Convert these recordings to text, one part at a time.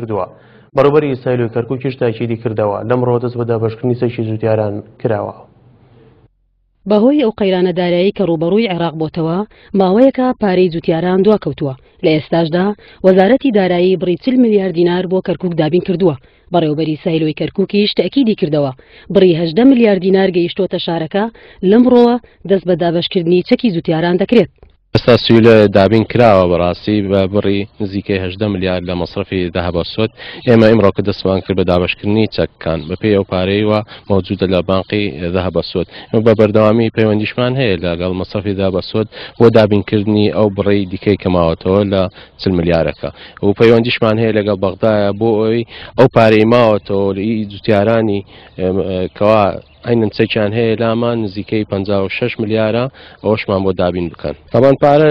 کردووە. بەڕێوەبەری سایلۆی کەرکوکیش تاکیدی کردەوە، لەمڕۆوە دەست بە دابەشکردنی چەکی جوتیاران کراوە. بەهۆی ئەو قەیرانە دارایی کە ڕووبەڕووی عێراق بۆتەوە، ماوەیەکە پارەی جوتیاران دواکەوتووە، لە ئێستاشدا وەزارەتی دارایی بڕی 40 ملیار دینار بۆ کەرکوک دابین کردووە، بەڕێوەبەری سایلۆی کەرکوکیش تەئکیدی کردەوە، بڕی 18 ملیار دینار گەیشتۆتە شارەکە، لەمڕۆوە دەست بە دابەشکردنی چەکی جوتیاران دەکرێت. ئێستا سویلە دابین کراوە بەڕاستی بە بڕی نزیکەی 18 ملیار لە مەسرەفی ذهب سوود. ئێمە ئیمڕۆ کە دەستمان کرد بە دابەشکردنی چەکەکان بەپێی ئەو پارەی وا مەوجودە لە بانقی ذهب سوود. ئێمە بە بەردەوامی پەیوەندیشمان هەیە لەگەڵ مەسرەفی ذهب سوود بۆ دابینکردنی ئەو بڕی دیکەی کە ماوەتەوە لە 40 ملیارەکە و پەیوەندیشمان هەیە لەگەڵ بەغدایە بۆ ئەوەی ئەو پارەی ماوەتەوە لە جوتیارانی کەوا عەینەن چەکیان هەیە لامان نزیکەی 56 ملیارە ئەوەشمان بۆ دابین بکەن. تەبان پارە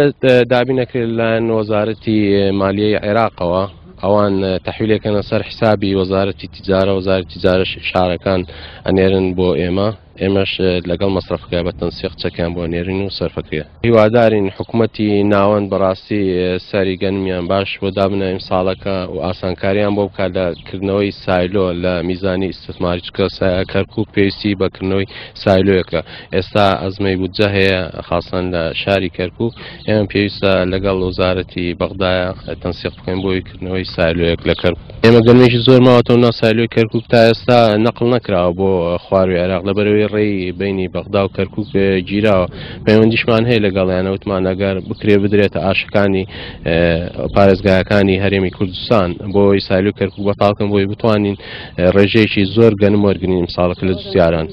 دابین نەکرێت لەلایەن وەزارەتی مالیەی عێراقەوە ئەوان تەحویلێکەنە سەر حسابی وەزارەتی تیجارە وەزارەتی تیجارەش شارەکان ئەنێرن بۆ ئێمە ئێمەش لەگەڵ مەسرەفەکە بە تەنسیق چەکیان بۆ نێرین و سەرفەکرێ. هیوادارین حکومەتی ناوەند بەڕاستی سەری گەنمیان باش بۆ دابنە ئیمساڵەکە و ئاسانکاریان بۆ بکات لە کردنەوەی سایلۆ لە میزانی ئیستثماری چونکە کەرکوک پێویستی بە کردنەوەی سایلۆیەکە ئێستا ئەزمەی بودجە هەیە خاصەن لە شاری کەرکوک ئێمە پێویستە لەگەڵ وەزارەتی بەغدایە تەنسیق بکەین بۆی کردنەوەی سایلۆیەک لە کەرکوک. ئێمە گەنمێکی زۆر ماوەتەوە ناو سایلۆی کەرکوک تا ئێستا نەقل نەکراوە بۆ خواروی عێراق لەبەرەوەی ڕێی بینی بەغدا و کەرکوک گیراوە پەیوەندیشمان هەیە لەگەڵیانە وتمان ئەگەر بکرێ بدرێتە ئاشەکانی پارێزگاکانی هەرێمی کوردستان بۆ ئەوەی سایلۆی کەرکوک بەتاڵکەن بۆی بتوانین ڕێژەیەکی زۆر گەنم وەرگرین ئیمساڵەکە لە جوتیاران.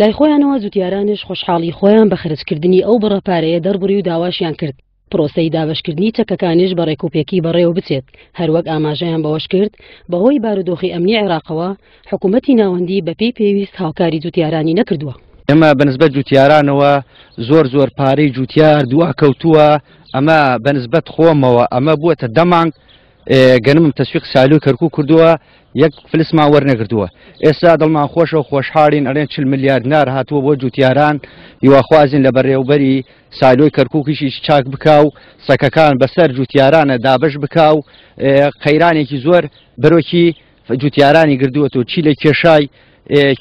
لای خۆیانەوە جوتیارانیش خۆشحاڵی خۆیان بە خەرجکردنی ئەو بڕە پارەیە دەربڕی و داواشیان کرد پرۆسەی دابەشکردنی چەکەکانیش بە ڕێکوپێکی بەڕێوە بچێت، هەروەک ئاماژەیان بەوەشکرد، بەهۆی بارودۆخی ئەمنی عێراقەوە حکومەتی ناوەندی بەپێی پێویست هاوکاری جوتیارانی نەکردووە. ئێمە بەنسبەت جوتیارانەوە زۆر زۆر پارەی جوتیار دواکەوتووە، ئەمە بەنسبەت خۆمەوە ئەمە بووەتە دە مانگ گەنمم تەسویق سالوی کەرکوک کردووە یەک فلسمان وەرنەگرتووە ئێستا دڵمان خۆشە و خۆشحاڵین ئەڵێن 40 ملیار دینار هاتووە بۆ جوتیاران هیواخوازین لە بەڕێوبەری سایلۆی کەرکوکیشیش چاک بکا و سەکەکان بەسەر جوتیارانە دابش بکا و قەیرانێکی زۆر بەرۆکی جوتیارانی گردووەتەوە چی لە کێشای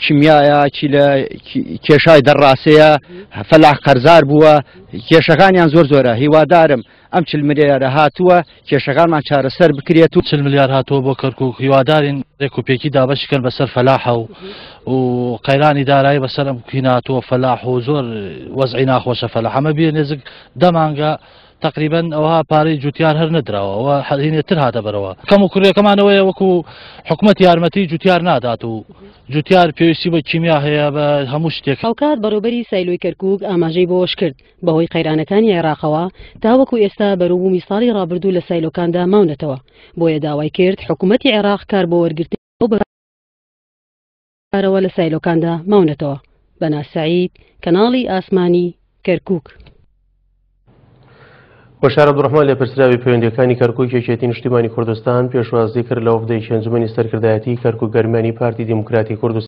کیمیایە چی لە کێشای دەڕاسەیە فەلاح قەرزار بووە کێشەکانیان زۆر زۆرە هیوادارم ئەم 40 ملیارە هاتووە کێشەکانمان چارەسەر بکرێت و 40 ملیار هاتووە بۆ کەرکوک هیوادارین ڕێک و پێکی دابەشی کەن بەسەر فەلاحە و و قەیرانی دارایی بەسەر ئەم هیناتووە فەلاح و زۆر وەزعی ناخۆشە فەلاح ئەمە بێ نێزک دە مانگە تقریبا ئەوها پارەی جوتیار هەر نەدراوە ئەوە هەرینێ تر هاتە بەرەوە کەم و کوڕیەکەمانەوەیە وەکو حکومەت یارمەتی جوتیار نادات و جوتیار پێویستی بە کیمیا هەیە بە هەموو شتێک. هاوکات بەڕێوبەری سایلۆی کەرکوک ئاماژەی بەوەشکرد، بەهۆی قەیرانەکانی عێراقەوە تاوەکو ئێستا بەروبوومی ساڵی ڕابردوو لە سایلۆکاندا ماونەتەوە، بۆیە داوای کرد حکومەتی عێراق کار بۆ وەرگرتنی ئەو بەرەوە لە سایلۆکاندا ماونەتەوە. بەنا سەعید، کەناڵی ئاسمانی، کەرکوک. بەشار عەبدولڕەحمان لێپرسراوی پەیوەندییەکانی کەرکوک یەکێتی نیشتیمانی کوردستان پێشوازی کرد لە وەفدێکی ئەنجومەنی سەرکردایەتی کەرکوک گەرمیانی پارتی دیموکراتی کوردستان.